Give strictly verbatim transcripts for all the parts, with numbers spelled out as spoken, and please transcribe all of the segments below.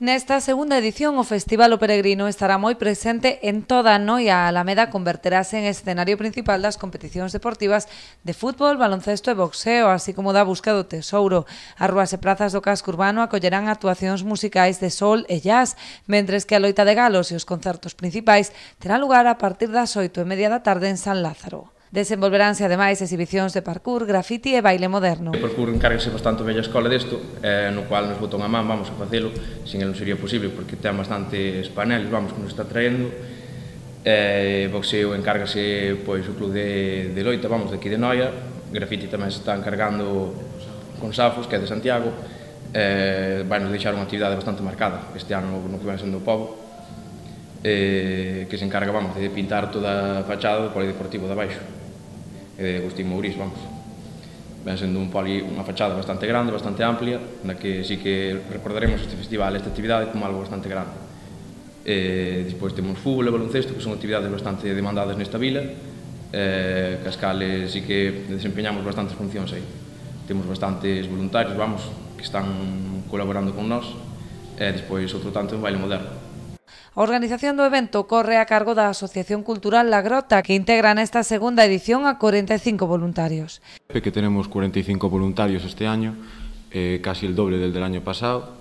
Nesta segunda edición, o Festival O Peregrino estará moi presente en toda a noia. A Alameda converterase en escenario principal das competicións deportivas de fútbol, baloncesto e boxeo, así como da busca do tesouro. As rúas e prazas do casco urbano acollerán actuacións musicais de sol e jazz, mentres que a loita de galos e os concertos principais terán lugar a partir das oito e media da tarde en San Lázaro. Desenvolveránse ademais exhibicións de parkour, graffiti e baile moderno. O parkour encárgase bastante bella escola desto, eh, no cual nos botou a man, vamos a facelo, sin el non sería posible, porque ten bastantes paneles, vamos, que nos está traendo. Eh, boxeo encárgase pois o club de, de loita, vamos, de aquí de Noia. Graffiti tamén se está encargando con Safos, que é de Santiago. Eh, vai nos deixar unha actividade bastante marcada este ano no que vai sendo o pobo, eh, que se encarga, vamos, de pintar toda a fachada do polideportivo de abaixo, e de Agustín Mourís, vamos. Ven sendo un poli, unha fachada bastante grande, bastante amplia, na que sí que recordaremos este festival, esta actividade, como algo bastante grande. Eh, despois temos fútbol e baloncesto, que son actividades bastante demandadas nesta vila, eh, cas cales sí que desempeñamos bastantes funcións aí. Temos bastantes voluntarios, vamos, que están colaborando con nós, e despois outro tanto en baile moderno. A organización do evento corre a cargo da Asociación Cultural La Grota, que integra nesta segunda edición a cuarenta y cinco voluntarios. Que tenemos cuarenta y cinco voluntarios este año, eh, casi el doble del del año pasado,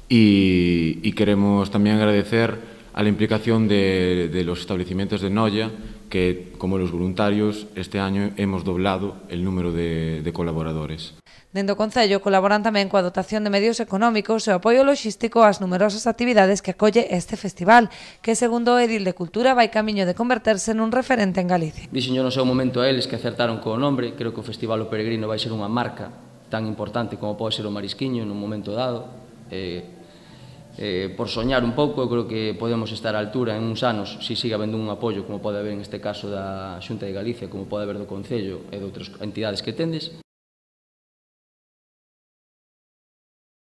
y, y queremos también agradecer a la implicación de, de los establecimientos de Noia, que como los voluntarios este año hemos doblado el número de, de colaboradores. Dende o Concello colaboran tamén coa dotación de medios económicos e o apoio logístico ás numerosas actividades que acolle este festival, que segundo o Edil de Cultura vai camiño de converterse nun referente en Galicia. Dixenllo no seu momento a eles que acertaron co nombre. Creo que o Festival O Peregrino vai ser unha marca tan importante como pode ser o Marisquiño nun momento dado. Eh, eh, por soñar un pouco, eu creo que podemos estar á altura en uns anos, se siga habendo un apoio como pode haber en este caso da Xunta de Galicia, como pode haber do Concello e de outras entidades que tendes.